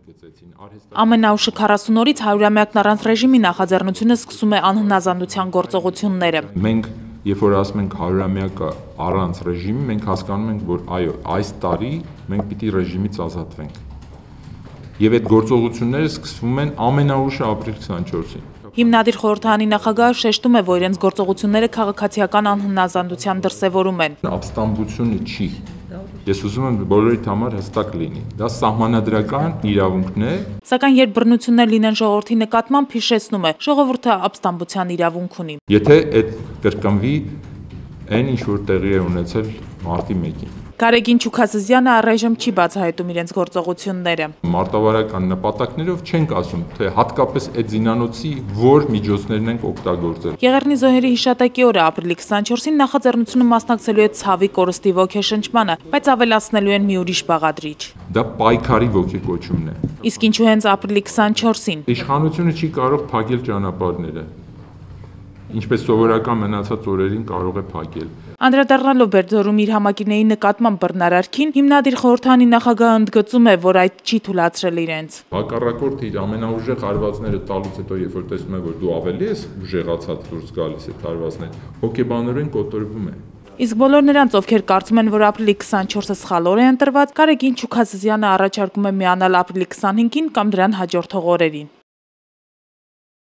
Ամենաուշը 40 օրից 100-ամյակն առանց ռեժիմի նախաձեռնությունը սկսում է անհնազանդության գործողությունները։ Մենք երբ որ ասում ենք 100-ամյակը առանց ռեժիմի, մենք հասկանում ենք, որ այո, այս տարի մենք պիտի ռեժիմից ազատվենք։ Եվ այդ գործողությունները սկսվում են ամենաուշը ապրիլ 24-ին։ Հիմնադիր խորհրդարանի նախագահը շեշտում է, որ իրենց գործողությունները քաղաքացիական անհնազանդության դրսևորում են։ Ապստամբությունը չի։ Ես ուզում եմ բոլորիդ համար հստակ լինի։ Դա սահմանադրական իրավունքն է։ Սակայն երբ բռնություններ լինեն ժողովրդի նկատմամբ, հիշեցնում է, ժողովուրդը ապստամբության իրավունք ունի։ Եթե այդ կրկնվի, այն ինչ որ տեղի է ունեցել մարտի 1-ին։ Գարեգին Չուքասզյանը առայժմ չի բացահայտում իրենց գործողությունները։ Մարտավարական նպատակներով չենք ասում, թե հատկապես այդ զինանոցի որ միջոցներն ենք օգտագործել։ Եղեռնի զոհերի հիշատակի օրը ապրիլի 24-ին նախաձեռնությունը մասնակցելու է ցավի կորստի ոգեշնչմանը, բայց ավելացնելու են մի ուրիշ բաղադրիչ։ Դա պայքարի ոգեկոչումն է։ Իսկ ինչու հենց ապրիլի 24-ին։ Իշխանությունը չի կարող փակել ճանապարհները, ինչպես սովորական մնացած օրերին կարող է փակել։ Անդրադառնալով Բերձորում իր համակիրների նկատմամբ բռնարարքին, հիմնադիր խորհրդարանի նախագահը ընդգծում է, որ այդ չի թույլատրել իրենց։ Հակառակորդը իր ամենաուժեղ հարվածները տալուց հետո, երբ որ տեսնում է, որ դու ավելի ես ուժեղացած դուրս գալիս այդ հարվածներ, հոգեբանորեն կոտորվում է։ Իսկ բոլոր նրանց, ովքեր կարծում են, որ ապրիլի 24-ը սխալ օր է ընտրված, Գարեգին Չուքասզյանը առաջարկում է միանալ ապրիլի 25-ին կամ դրան հաջորդող օրերին։